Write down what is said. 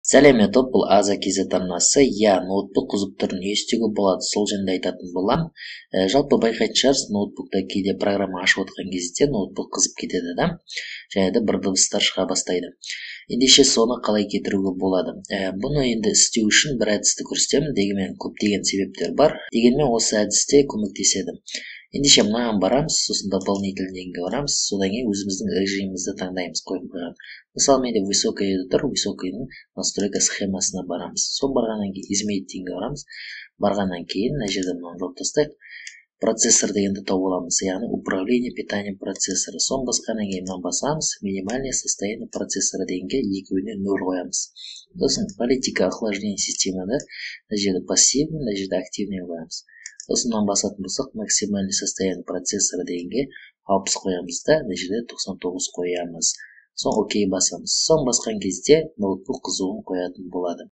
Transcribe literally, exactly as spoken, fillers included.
Сәлеметіп, бұл аза кезет арнасы. Я ноутбук қызып тұр, не істеуге болады, сол жөнінде айтатын болам. Ә, жалпы байқайтын шығарсыз, ноутбукта кейде программа ашып отқан кезде ноутбук қызып кетеді да, және де бір дыбыстар шыға бастайды. Ендеше соны қалай кетіруге болады? Ә, бұны енді істеу үшін бір әдісті көрсетемін, дегенмен көптеген себептер бар. Дегенмен осы әдісте көмектеседі. Ендеше мынаған барамыз, сосын дополнительныйға барамыз, содан кейін өзіміздің режимімізді таңдаймыз қойып қойған. Мысалы менде высокая тұр, высокайдың настройка схемасына барамыз. Сол барғаннан кейін изменить дегенге барамыз. Барғаннан кейін мына жерде мынаны жауып тастайық. Процессор дегенді тауып аламыз, яғни управление питанием процессора. Соны басқаннан кейін мынаны басамыз, минимальное состояние процессора дегенге екеуіне нөл қоямыз. Сосын политика охлаждения системада мына жерде пассивный, мына жерде активный қоямыз. Сосын мынаны басатын болсақ, максимальный состояние процессора дегенге алпыс қоямыз да, мына жерде тоқсан тоғыз қоямыз. Соң окей басамыз. Соң басқан кезде ноутбук қызуын қоятын болады.